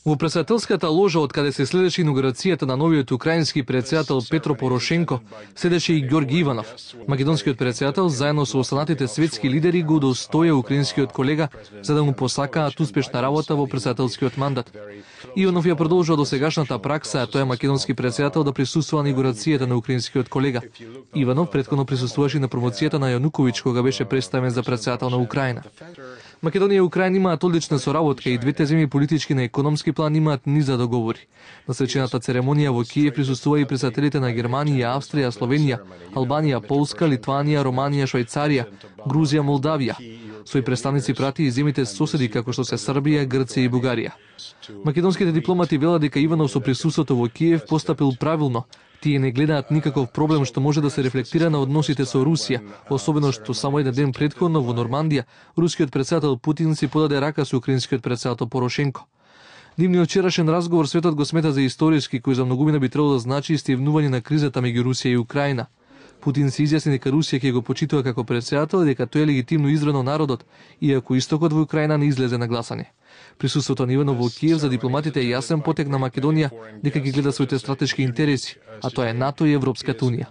Во претседателската ложа од каде се следеше инаугурацијата на новиот украински претседател Петро Порошенко, седеше и Ѓорги Иванов. Македонскиот претседател заедно со останатите светски лидери го удостоја украинскиот колега за да му посакаат успешна работа во претседателскиот мандат. Иванов ја продолжува досегашната пракса, а тој е македонски претседател да присуствува на инаугурацијата на украинскиот колега. Иванов претходно присуствуваше на промоцијата на Јануковиќ кога беше представен за претседател на Украина. Македонија и Украина имаат одлична соработка и двете земји политички на економски план имаат низ за договори. На свечената церемонија во Киев присуствува и претседателите на Германија, Австрија, Словенија, Албанија, Полска, Литванија, Романија, Швајцарија, Грузија, Молдавија. Свои представници прати и земјите соседи како што се Србија, Грција и Бугарија. Македонските дипломати велат дека Иванов со присуството во Киев постапил правилно. Тие не гледаат никаков проблем што може да се рефлектира на односите со Русија, особено што само еден ден претходно во Нормандија рускиот претседател Путин си подаде рака со украинскиот претседател Порошенко. Нивниот вчерашен разговор светот го смета за историски, кој за многумина би требало да значи истивнување на кризата меѓу Русија и Украина. Путин се изјасни дека Русија ќе го почитува како претседател и дека тој е легитимно избран од народот, иако истокот во Украина не излезе на гласање. Присуството на Иванов во Киев за дипломатите е јасен потек на Македонија дека ги гледа своите стратешки интереси, а тоа е НАТО и Европската унија.